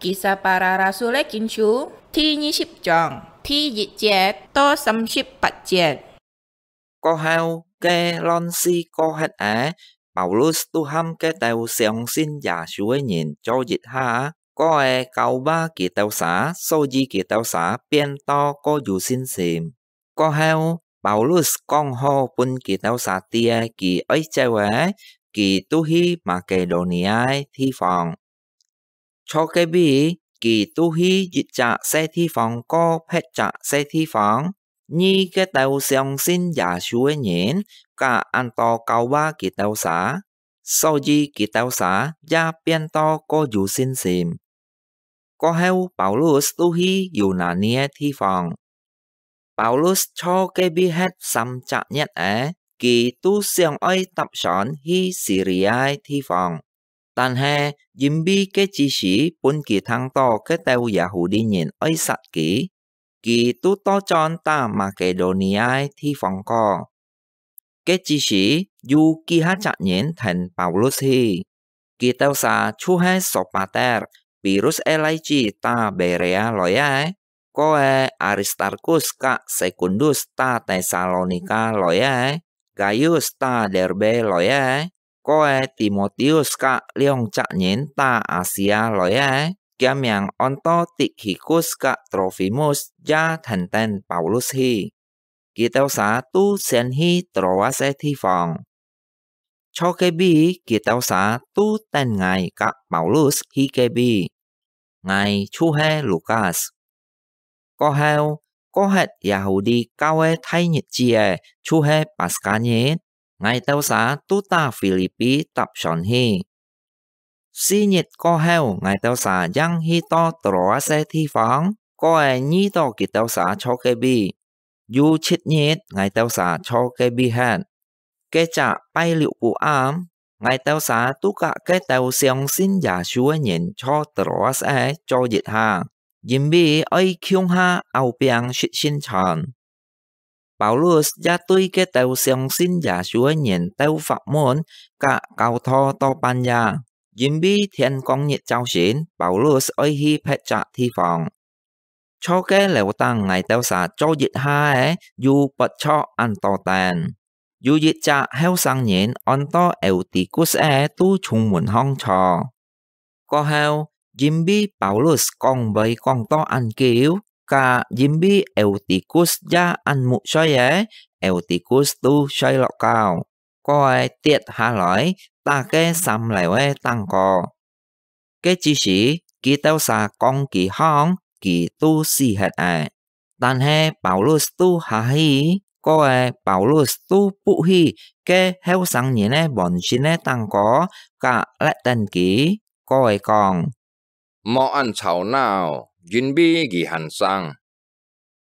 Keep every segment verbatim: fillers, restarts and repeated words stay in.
Kisah Para Rasul-é Kinsú第二十章第一節到三十八節。過後，該亂世過忒仔，Paulus都喊該兜相信耶穌个人坐一下，過仔教化佢兜儕，所以佢兜儕變到過有信心。過後，Paulus講好分佢兜儕知佢愛走仔，佢都去Makedonia个地方。坐該位，佢都去一隻細地方過別隻細地方，遇該兜相信耶穌个人，甲恁多教化佢兜儕，所以佢兜儕也變到過有信心。過後，Paulus都去Yunani个地方。Paulus坐該位歇三隻月仔，佢都想愛搭船去Siria个地方，但係因為該之時分佢聽到該兜Yahudi人愛殺佢，佢都倒轉打Makedonia个地方過。該之時，有幾下隻人跈Paulus去，佢兜儕就係Sopater，Pirus个倈子打Berea來个，過仔Aristarkus甲Sekundus打Tesalonika來个，Gaius打Derbe來个，過仔Timoteus甲兩隻人打Asia來个，厥名安到Tikhikus甲Trofimus也跈等Paulus去。佢兜儕都先去Troas个地方。坐該位，佢兜儕都等𠊎甲Paulus去該位。𠊎就係Lukas。過後，過歇Yahudi教个大日子仔，就係Paska日，𠊎兜儕都打Philippi搭船去。四日過後，𠊎兜儕正去到Troas个地方，過仔遇到佢兜儕坐該位。有七日，𠊎兜儕坐該位歇。該隻拜六晡暗，𠊎兜儕都甲該兜相信耶穌个人坐Troas个坐一下，因為愛共下拗餅食聖餐。Paulus也對該兜相信耶穌个人鬥法門甲交討到半夜，因為天光日朝晨，Paulus愛去別隻地方。坐該樓頂𠊎兜儕坐一下个，有發著恁多燈。有一隻後生人安到Eutykus个都從門項坐。過後，因為Paulus講話講到恁久，甲因為Eutykus也恁目睡个，Eutykus都睡落覺，過仔跌下來，打該三樓个頂高。該之時，佢兜儕講佢䟘，佢都死忒咧。但係Paulus都下去，過仔Paulus都伏去該後生人个門身个頂高，甲勒等佢，過仔講：「莫恁吵鬧，因為佢還生。」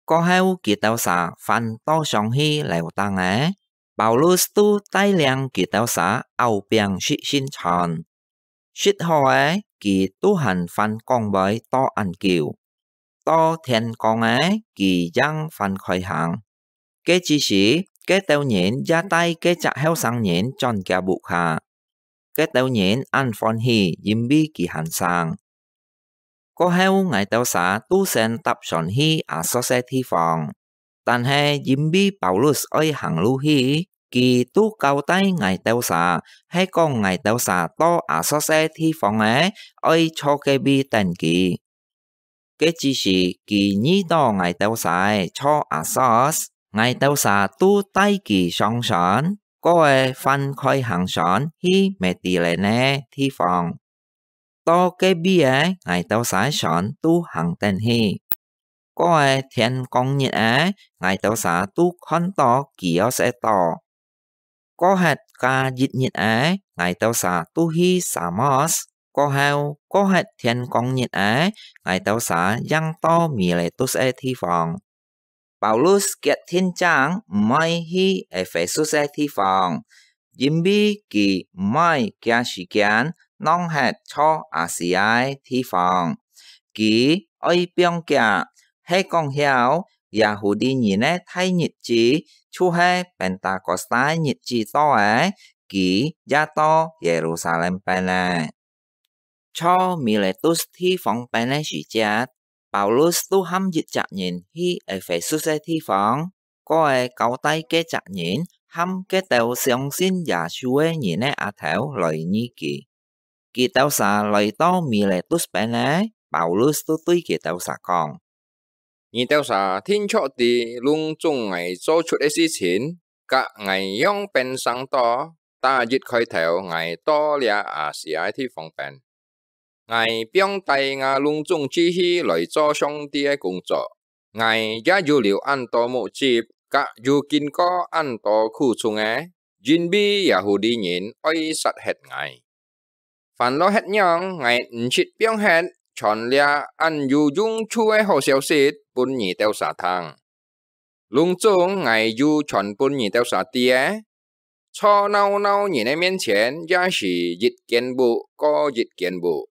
過後，佢兜儕翻倒上去樓頂仔，Paulus都帶領佢兜儕拗餅食聖餐。食好咧，佢都還翻講話到恁久。到天光咧，佢正翻開行。該之時，該兜人也帶該隻後生人轉厥屋下。該兜人恁歡喜，因為佢還生。過後，𠊎兜儕都先搭船去Assos个地方。但係因為Paulus愛行路去，佢都交代𠊎兜儕，係講𠊎兜儕到Assos个地方咧，愛坐該位等佢。該之時，佢遇到𠊎兜儕坐Assos，𠊎兜儕都帶佢上船，過仔翻開行船去Mediterranean个地方。到該位咧，𠊎兜儕船都行等去。過仔天光日咧，𠊎兜儕都看到Kios个島。過歇加一日咧，𠊎兜儕都去Samos。過後，過歇天光日咧，𠊎兜儕正到Miletus个地方。Paulus決定正毋愛去Ephesus个地方，因為佢毋愛厥時間浪忒坐Asia个地方。佢愛放厥，係講曉Yahudi人个大日子，就係Pentecost个日子到咧，佢也到Yerusalem變咧。坐米列都地方汴个時節，Paulus都喊一隻人去Ephesus个地方，過个交代該隻人喊該兜相信耶穌个人个阿頭來見佢。佢兜儕來到米列都汴个，Paulus都對佢兜儕講：你兜儕定著知，攏總𠊎做出个事情，佮𠊎仰般生到，打一開頭𠊎到這亞細亞个地方汴。 𠊎放低吾攏總志氣來做上帝个工作。𠊎也有流恁多目汁，佮有經過恁多苦衷个，因為Yahudi人愛殺忒𠊎。凡落忒樣，𠊎毋識放忒傳這恁有用處个好消息分你兜儕聽。 攏總𠊎有傳分你兜儕知个，坐鬧鬧人个面前也是一間屋過一間屋。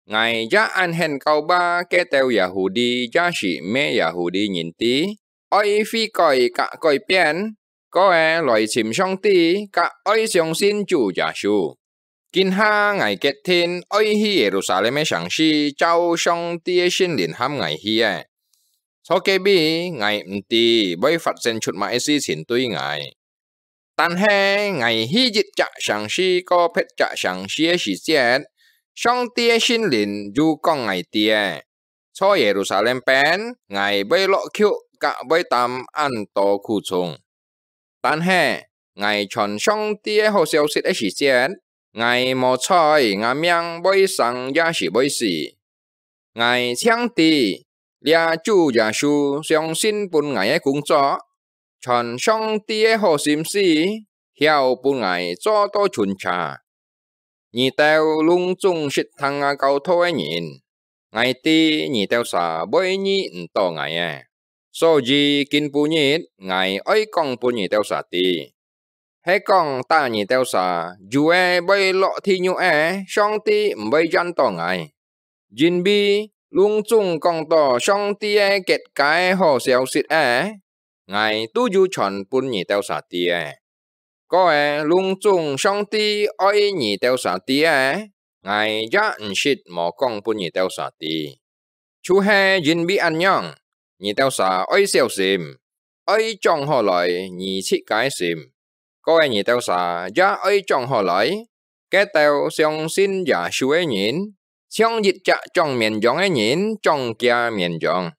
𠊎也恁肯教化該兜Yahudi也是毋係Yahudi人知，愛悔改佮改變，過个來尋上帝，佮愛相信主耶穌。 今下𠊎決定愛去耶路撒冷个城市，照上帝个聖靈喊𠊎去个。坐該位，𠊎毋知會發生出麼个事情對𠊎。但係𠊎去一隻城市過別隻城市个時節，上帝个聖靈有講𠊎知个，坐耶路撒冷汴，𠊎會落曲佮會擔恁多苦衷。 但係，𠊎傳上帝个好消息个時節，𠊎無在吾命會生也係會死。𠊎淨知，這主耶穌相信分𠊎个工作，傳上帝个好信息，曉分𠊎做到全車。你兜攏總識聽吾教導个人， 𠊎知你兜儕會遇毋到𠊎个，所以今晡日𠊎愛講分你兜儕知。係講打你兜儕，有个會落地獄个，上帝毋會厭到𠊎。因為攏總講到上帝个結界个好消息个，𠊎都有傳分你兜儕知个。 過个攏總上帝愛你兜儕知个，𠊎也毋識無講分你兜儕知。就係因為恁樣，你兜儕愛小心，愛掌好來你自家个心。過个你兜儕也愛掌好來，該兜相信耶穌个人，像一隻掌綿羊个人掌厥綿羊。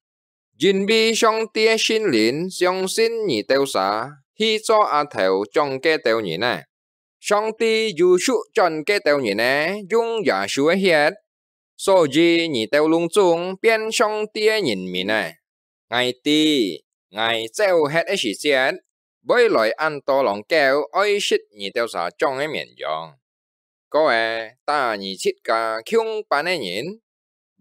因為上帝个聖靈相信你兜儕去做阿頭掌該兜人个。上帝有揀選該兜人个，用耶穌个血，所以你兜攏總變上帝个人民个。𠊎知，𠊎走忒个時節，會來恁多狼狗愛食你兜儕掌个綿羊。 過个，打你自家共伴个人，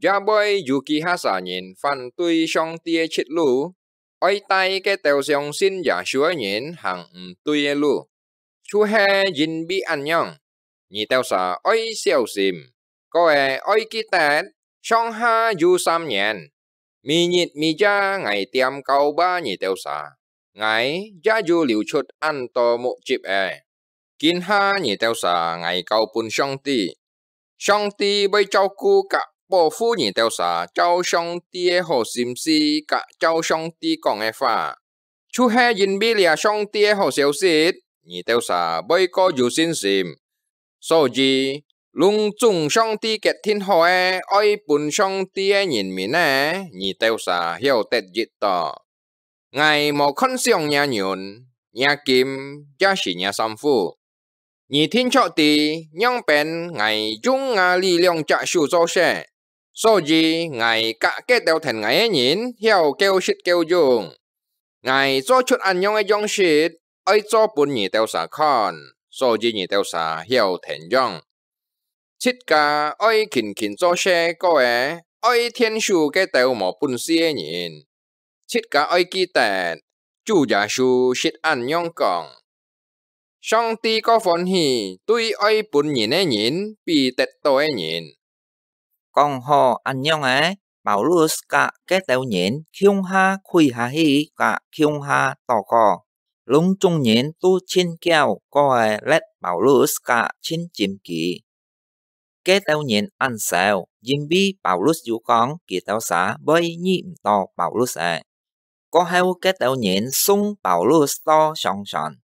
也會有幾下儕人反對上帝个出路，愛帶該兜相信耶穌个人行毋對个路。就係因為恁樣，你兜儕愛小心，過个愛記得，上下有三年，每日每夜𠊎恬教化你兜儕，𠊎也有流出恁多目汁个。 今下你兜儕𠊎交分上帝，上帝會照顧佮保護你兜儕，照上帝个好心思佮照上帝講个話。就係因為這上帝个好消息，你兜儕會過有信心。所以，攏總上帝決定好个，愛分上帝个人民个，你兜儕曉得益到。 𠊎無看上若銀、若金，也是若衫褲。你定著知，仰般𠊎用吾這兩隻手做事，所以𠊎佮該兜跈𠊎个人曉夠食夠用。𠊎做出恁樣个樣式，愛做分你兜儕看，所以你兜儕曉跈樣。自家愛勤勤做事，過个，愛𢯭手該兜無本事个人。 自家愛記得，主耶穌識恁樣講：上帝較歡喜對愛分人个人，比得到个人。講好恁樣个，Paulus佮該兜人共下跪下去，佮共下禱告。攏總人都盡噭，過个，列Paulus佮盡尊敬佢。該兜人恁愁，因為Paulus有講佢兜儕會遇毋到Paulus仔。過後，該兜人送Paulus到上船，